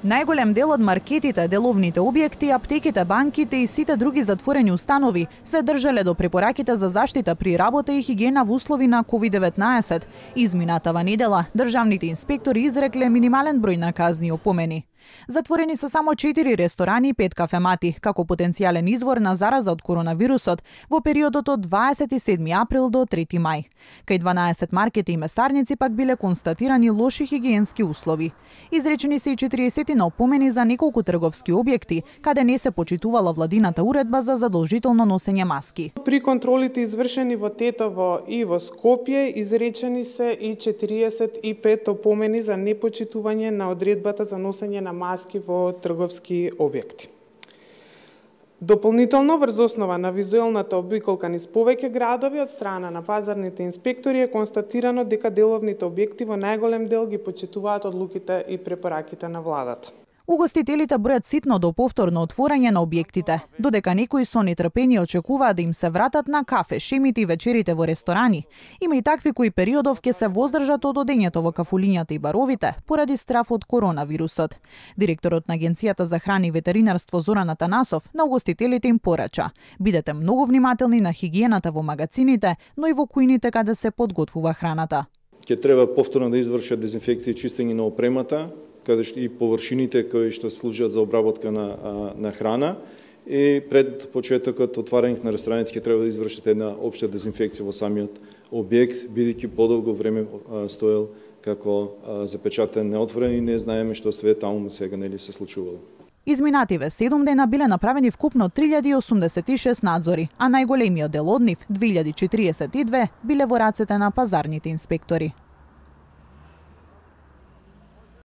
Најголем дел од маркетите, деловните објекти, аптеките, банките и сите други затворени установи се држале до препораките за заштита при работа и хигиена во услови на COVID-19. Изминатава недела државните инспектори изрекле минимален број на казни и опомени. Затворени се само 4 ресторани и 5 кафемати, како потенцијален извор на зараза од коронавирусот во периодот од 27 април до 3 мај. Кај 12 маркети и месарници пак биле констатирани лоши хигиенски услови. Изречени се и 40 на опомени за неколку трговски објекти, каде не се почитувала владината уредба за задолжително носење маски. При контролите извршени во Тетово и во Скопје изречени се и 45 опомени за непочитување на одредбата за носење на маски во трговски објекти. Дополнително, врз основа на визуелната обиколка низ повеќе градови од страна на пазарните инспектори е констатирано дека деловните објекти во најголем дел ги почитуваат одлуките и препораките на владата. Угостителите бројат ситно до повторно отворање на објектите, додека некои со нетрпение очекуваат да им се вратат на кафе, шемите и вечерите во ресторани. Има и такви кои периодов ќе се воздржат од одењето во кафулињата и баровите поради страф од коронавирусот. Директорот на Агенцијата за храна и ветеринарство Зоран Атанасов на угостителите им порача: бидете многу внимателни на хигиената во магацините, но и во кујните каде се подготвува храната. Ќе треба повторно да извршат дезинфекција и чистење на опремата, каде и површините кои што служат за обработка на храна, и пред почетокот отварање на рестораните ќе треба да извршите една општа дезинфекција во самиот објект, бидејќи подолго време стоел како запечатен, неотворен и не знаеме што све таму сега нели се случувало. Изминативе 7 дена биле направени вкупно 3086 надзори, а најголемиот дел од нив, 2042, биле во рацете на пазарните инспектори.